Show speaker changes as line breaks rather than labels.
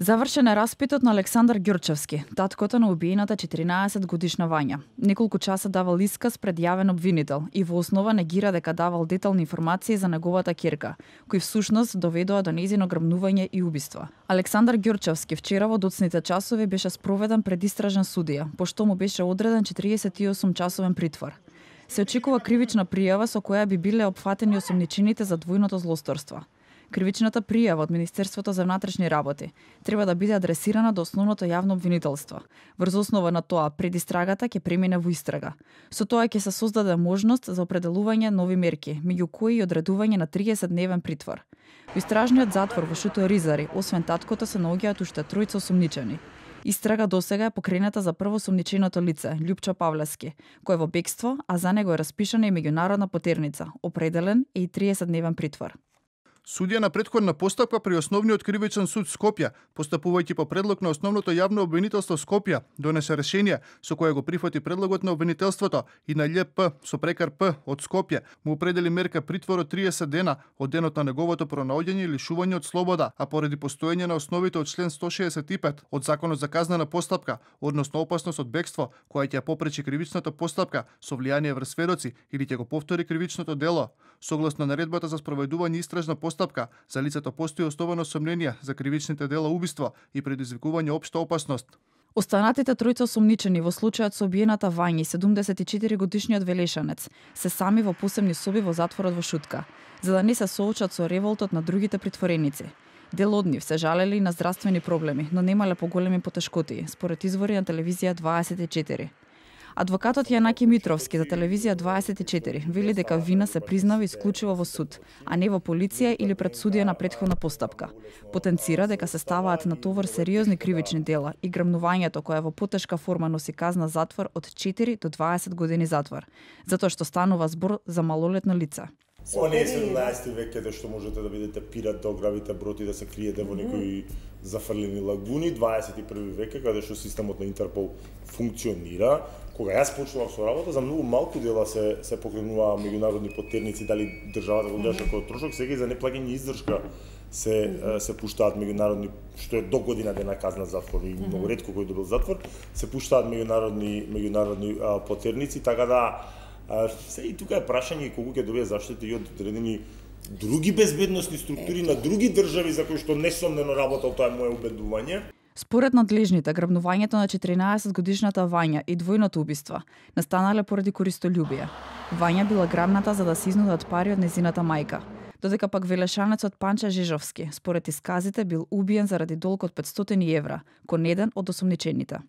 Завршен е распитот на Александар Ѓурчевски, таткото на убиената 14-годишна Вања. Неколку часа давал исказ пред јавен обвинител и во основа негира дека давал детални информации за неговата ќерка, кои всушност доведоа до нејзино грабнување и убиство. Александар Ѓурчевски вчера во доцните часови беше спроведен пред истражен судија, пошто му беше одреден 48 часовен притвор. Се очекува кривична пријава со која би биле опфатени осомничените за двојното злосторство. Кривичната пријава од Министерството за внатрешни работи треба да биде адресирана до основното јавно обвинителство. Врз основа на тоа, предистрагата ќе премине во истрага. Со тоа ќе се создаде можност за определување нови мерки, меѓу кои и одредување на 30-дневен притвор. Во истражниот затвор во Шуто Ризари, освен таткото, се наоѓаат уште тројца осомничени. Истрага досега е покрената за прво осомниченото лице, Љупчо Павлевски, кој е во бегство, а за него е распишана и меѓународна потерница, определен е и 30-дневен притвор.
Судија на претходна постапка при Основниот кривичен суд Скопје, постапувајќи по предлог на Основното јавно обвинителство Скопје, донесе решение со кое го прифати предлогот на обвинителството и на љП со прекар П од Скопје му определи мерка притвор од 30 дена од денот на неговото пронаоѓање и лишување од слобода, а поради постоење на основите од член 165 од Законот за казнена постапка, односно опасност од бегство, која ќе попречи кривичната постапка со влијание врз сведоци или ќе го повтори кривичното дело. Согласно наредбата за спроведување истражна постапка, за лицето постои основано сомнение за кривичните дела убиство и предизвикување општа опасност.
Останатите тројца осомничени во случајот со убиената Вања и 74-годишниот Велешанец се сами во посебни соби во затворот во Шутка, за да не се соочат со револтот на другите притвореници. Дел од нив се жалели на здравствени проблеми, но немале поголеми потешкоти, според извори на телевизија 24. Адвокатот Јанаки Митровски за телевизија 24 вели дека вина се признава исклучиво во суд, а не во полиција или пред судија на претходна постапка. Потенцира дека се ставаат на товар сериозни кривични дела и грабнувањето кое во потешка форма носи казна затвор од 4 до 20 години затвор, затоа што станува збор за малолетно лице.
Ова не е 17 век каде што можете да бидете пират, да ограбите брод и да се криете во некои зафрлени лагуни. 21 век каде што системот на Интерпол функционира. Кога јас почнував со работа, за многу малку дела се покренуваа меѓународни потерници, дали државата го гледаше како трошок, сега и за неплаќање издршка се пуштаат меѓународни, што е до година дена казна затвор и многу ретко кој добил затвор, се пуштаат меѓународни потерници, така да се и тука е прашање колку ќе добие заштита и од одредени други безбедносни структури на други држави за кои што несомнено работел, тоа е мое убедување.
Според надлежните, грабнувањето на 14-годишната Вања и двојното убиство настанале поради користолюбие. Вања била грабната за да се изнудат пари од незината мајка, додека пак Велешанецот Панче Жежовски, според исказите, бил убиен заради долг од 500 евра, кон еден од осомничените.